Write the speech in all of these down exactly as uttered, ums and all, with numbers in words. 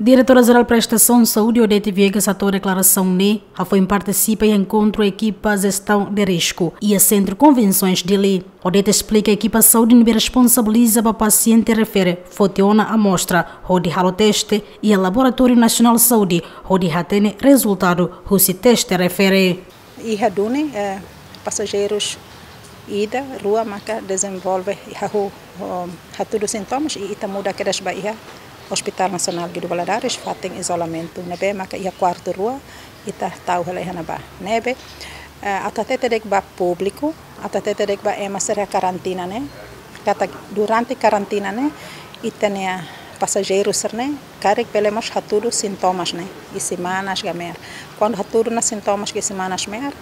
Diretora Jerál Prestasaun Saúde, Odete Viegas, hato'o deklarasaun ne'e hafoin partisipa iha enkontru ekipa jestaun de risku iha Sentru Konvensoens Dili. Odete esplika ekipa saúde ne'ebé responsabiliza ba pasiente refere foti ona amostra hodi halo teste iha Laboratóriu Nasionál Saúde hodi hatene rezultadu husi teste refere. Iha duni, eh, pasajeirus ida, rua maka dezenvolve hahú, oh, hatudu sintomas i ita muda kedas ba iha Hospital Nasionál Guido Valadares, fatin izolamentu. Ne'ebé maka iha kuartu rua, ita tau hela iha ne'ebá. Ne'ebé, eh, atu hatete de'it ba públiku, atu hatete de'it ba ema sira karantina ne'e, katak durante karantina ne'e, ita-nia pasajeiru sira-ne'e karik bele mós hatudu sintomas ne'e iha semanas ka me'ar. Kuandu hatudu ona sintomas iha semanas me'ar,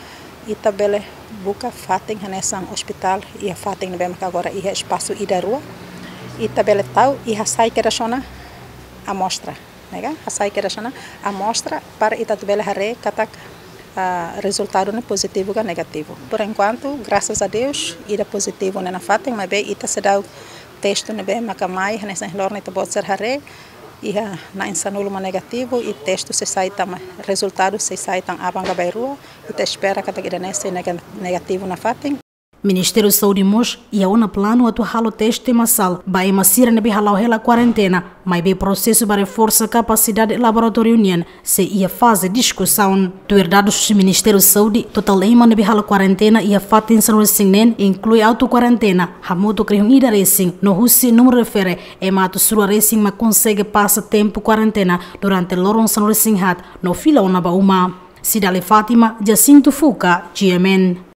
ita bele buka fatin hanesan ospitál iha fatin ne'ebé maka agora iha espasu ida rua. Ita bele tau i hasai kedas ona amostra, ne'e ka? Hasai kedas ona amostra para ita atu bele haree katak, ah, rezultadu ne'e pozitivu ka negativu. Por enkuantu, grasas a Deus, ida pozitivu ne'e nafatin, maibé ita seidauk testu ne'ebé maka mai, hanesan loron ita-boot sira haree, iha na'in sanulu mak negativu, i testu sei sai tan, rezultadu sei sai tan aban ka bainrua, ita espera katak ida-ne'e sei nega-, negativu nafatin. Ministériu Saúde mós iha ona planu atu halo teste masál ba ema sira ne'ebé hala'o hela kuarentena, maibé prosesu ba reforsa kapasidade laboratóriu nian sei iha faze diskusaun. Tuir dadus husi Ministériu Saúde, totál ema ne'ebé halo kuarentena iha fatin sanulu-resin-neen, inklui auto-kuarentena, hamutuk rihun ida resin, no husi númeru refere ema atus rua resin mak konsege pasa tempu kuarentena durante loron sanulu-resin-haat no fila ona ba uma. Cidalia Fátima, Jacinto Fuca, G M N.